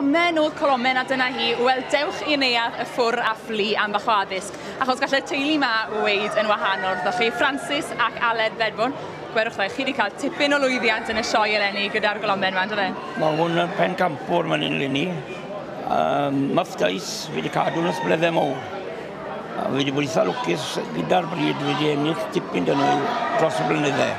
Colomen oedd colomen a dyna hi. Wel, dewch i neuadd y Ffwr a Ffli am bach o addysg, achos gallai'r teulu 'ma weud yn wahanol wrthoch chi. Francis ac Aled Bedford, gwerwch dda, chi wedi cael tipyn o lwyddiant yn y sioe eleni gyda'r golomen 'ma, on'd do fe? Mae hwn yn pencampwr man hyn 'leni. Muff Dice, fi wedi cadw nhw ers blynydde mowr. A fi wedi bod eitha lwcus gyda'r bryd, fi wedi ennill tipyn dyn nhw dros y blynydde.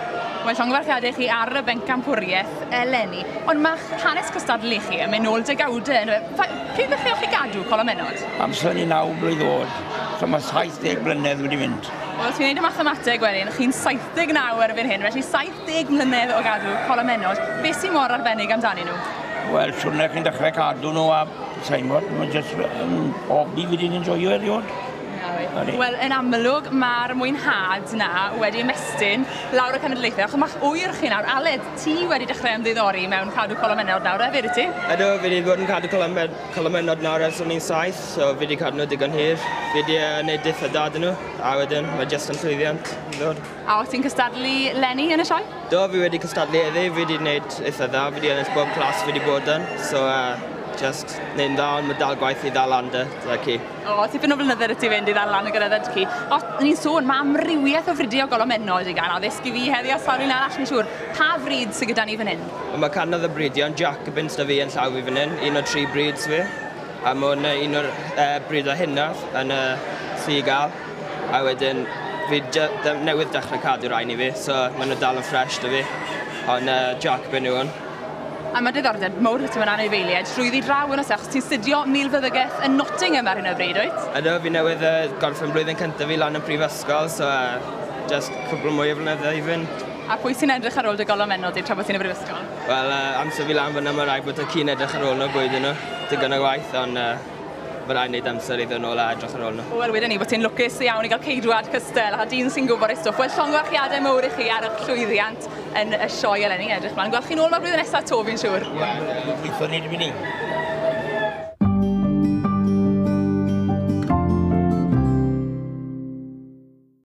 Wel, llongyfarchiadau chi ar y bencampwriaeth eleni, ond mae'ch hanes cystadlu chi yn mynd nôl degawdau, yndyfe? Pryd ddechreuoch chi gadw colomennod? Amser o'n i 9 blwydd oed, so mae 70 blynedd wedi mynd. Wel, os fi'n neud y mathemateg wedyn, chi'n 79 erbyn hyn, felly 70 mlynedd o gadw colomennod. Beth sy'n mor arbennig amdanyn nhw? Wel, siwrne chi'n dechrau cadw nhw a sa'n gwybod, mae'n jyst yn hobi fi wedi'n enjoyo eriod. Wel, yn amlwg, mae'r mwynhad na wedi ymestyn lawr y cenedlaethau, achos mae'ch ŵyr chi nawr, Aled, ti wedi dechrau ymddiddori mewn cadw colomennod nawr hefyd, wyt ti? Ydw, fi wedi bod yn cadw colomennod nawr ers o'n i'n 7, so fi wedi cadw nhw digon hir. Fi wedi gwneud eitha da 'dyn nhw, a wedyn mae jyst yn llwyddiant yn dod. A o't ti'n cystadlu 'leni yn y sioe? Do, fi wedi cystadlu heddi, fi wedi gwneud eitha dda, fi wedi ennill bob class fi wedi bod yn, so just wneud yn dda, ond mae dal gwaith i ddal lan 'da ci. O, tipyn o flynydde 'da ti fynd i ddal lan y gyda ci. O, ni'n sôn, mae amrywiaeth o fridiau o golomennod i gael addysg i fi heddi a sawl un arall, fi'n siŵr. Pa frid sydd gyda ni fan hyn? Wel, mae cannoedd o bridiau, ond Jacobins 'da fi yn llaw fi fan hyn, un o'r tri brids fi. A mae hwn un o'r bridau hynaf yn y sy i gael. A wedyn, fi newydd dechrau cadw rhain i fi, so maen nhw dal yn ffresh 'da fi. Ond Jacobin yw hwn. A mae diddordeb mawr 'da ti mewn anifeiliaid drwyddi draw yn oes e, achos ti'n studio milfeddygaeth yn Nottingham ar hyn o bryd, wyt? Ydw, fi newydd gorffen blwyddyn cyntaf fi lan yn prifysgol, so just cwpl mwy o flynyddoedd i fynd. A pwy sy'n edrych ar ôl dy golomennod di tra bod ti'n y brifysgol? Wel, amser fi lan fyna, mae rhaid bod y ci'n edrych ar ôl nhw, bwyd nhw. Digon o waith, ond mae rhaid wneud amser iddyn nhw a edrych ar ôl nhw. Wel, wedyn ni bod ti'n lwcus iawn i gael ceidwad cystel a dyn sy'n gwybod ei stwff. Wel, llongyfarchiadau mowr i chi ar eich llwyddiant yn y sioe eleni. Edrych mlaen. Gweld chi nôl 'ma blwyddyn nesaf 'to, fi'n siŵr. Ie, gobeithio ni 'di mynd.